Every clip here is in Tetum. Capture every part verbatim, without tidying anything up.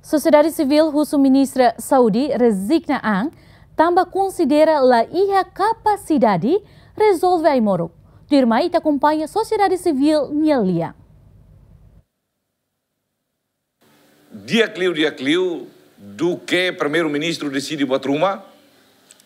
Sosiedade sivíl husu Ministra Saúde rezigna an, tanba konsidera la iha kapasidade rezolve ai-moruk. Tuirmai ita akompaña sosiedade sivíl nia lian. Di'ak liu, di'ak liu, duké Primeiru-Ministru deside buat ruma,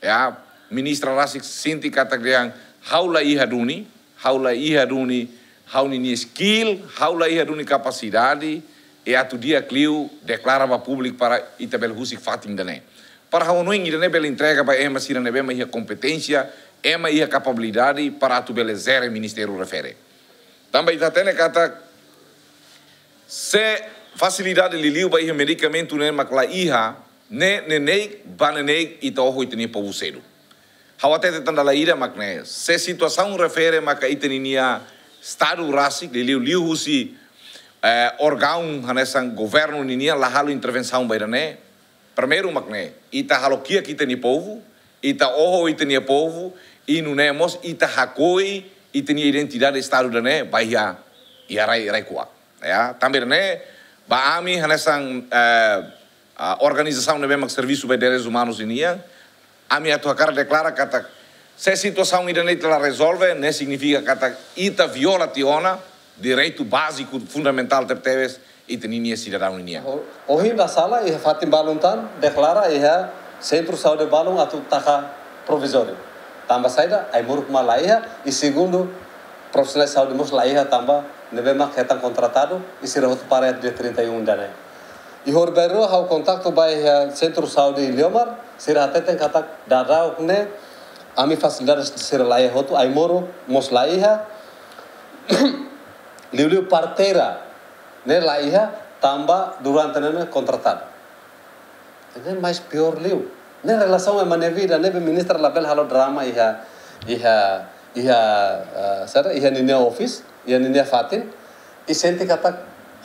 ya, ministra rasik sente katak dehan ha'u la iha duni, ha'u la iha duni, ha'u ninia skill, ha'u la iha duni kapasidade, i atu di'ak liu deklara ba públiku para ita bele husik fatin ida-ne'e. Para ha'u hanoin ida-ne'e bele entrega ba ema sira ne'ebé mak iha kompeténsia, ema iha kapabilidade para atu bele jere ministériu refere. Tanba ita hatene katak se fasilidade liuliu ba iha medikamentu ne'e mak la iha, ne'e neineik ba neineik ita oho ita-nia povu sedu. Ha'u hatete tan dala ida mak ne'e, se situasaun refere maka ita ninia Estadu rasik, liuliu liuhusi, eh, órgaun hanesan governu ninian la halo intervensaun ba ida-ne'e, primeiru mak ne'e, ita halo kiak ita-nia povu, ita oho ita-nia povu, i nune'e mós ita hakoi ita-nia identidade Estadu ida-ne'e ba iha, iha rai, rai kuak. Ya, tanba ida-ne'e, ba ami hanesan, eh, ah, organizasaun ne'ebé mak servisu ba direitus umanus ninian, ami atu hakarak deklara katak se situasaun ida-ne'e ita la rezolve, ne'e signifika katak ita viola tiha ona direitu báziku fundamentál tebetebes ita ninia sidadaun ninian. Ho-, ohin dala sala iha fatin balun tan deklara iha sentru saúde balun atu taka provizóriu. Tanba saida, ai-moruk mak la iha, i segundu, profisionál saúde mós la iha tanba ne'ebé mak hetan kontratadu, i sira hotu para dia trinta e um ida-ne'e. I horibainrua ha'u kontaktu ba iha sentru saúde Iliomar, sira hateten katak daudaun ne'e, ami fasilidade sira la iha hotu, ai-moruk mós la iha, liuliu parteira ne'e la iha, tanba durante ne'e kontratadu. Ne'e mais piór liu. Ne'e relasaun ema nia vida, ne'ebé ministra labele halo drama iha, iha, iha, eh, saida, iha ninia office, iha ninia fatin. I sente katak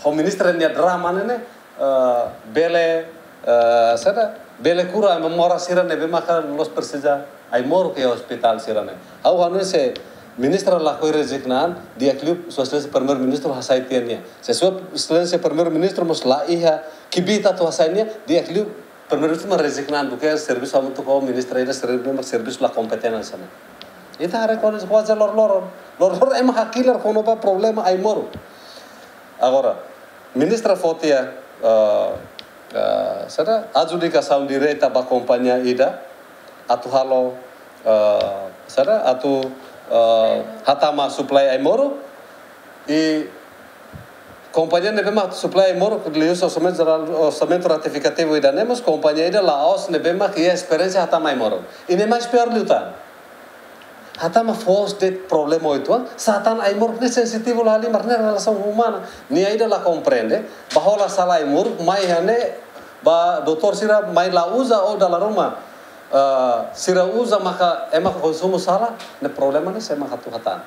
ho ministra nia drama ne'e ne'e, eh, bele, eh, saida, bele kura ema moras sira ne'ebé maka la'ós presiza ai-moruk iha ospitál sira-ne'e. Ha'u hanoin se ministra lakohi rezigna an, di'ak liu Sua Exelénsia Primeiru-Ministru hasai tiha nia. Se Sua Exelénsia Primeiru-Ministru mós la iha kbiit atu hasai nia, di'ak liu Primeiru-Ministru mak rezigna an duké servisu hamutuk ho ministra ida serbi-, mak servisu la kompetente hanesan ne'e. Ita haree kuaze, kuaze loroloron. Loroloron ema hakilar kona-ba problema ai-moruk. Agora, ministra fó tiha, eh, eh, saida, adjudikasaun direta ba kompañia ida atu halo, eh, saida, atu, eh, hatama supply ai-moruk, i kompañia ne'ebé mak supply ai-moruk liuhusi orsamentu jerál, orsamentu retifikativu ida-ne'e mós kompañia ida la'ós ne'ebé mak iha esperiénsia hatama ai-moruk. I ne'e mais piór liután. Hatama foos de'it problema uitoan, sá tan ai-moruk ne'e sensitivu la halimar, ne'e relasaun umana. Nia ida la komprende, ba hola sala ai-moruk, mai iha ne'e, ba doutór sira mai la uza ou dala ruma, eh, sira uza maka ema konsumu sala, ne'e problema ne'e sé mak atu hatán.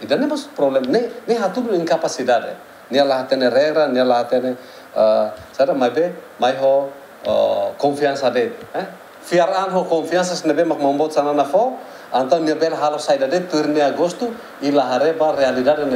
Ida-ne'e mós problema, ne'e, ne'e hatudu inkapasidade. Nia la hatene regra, nia la hatene, eh, saida, maibé mai ho, eh, konfiansa de'it, eh. Fiar an ho konfiansa ne'ebé mak maun-boot Xanana fó, entaun nia bele halo saida de'it tuir nia gostu, i la haree ba realidade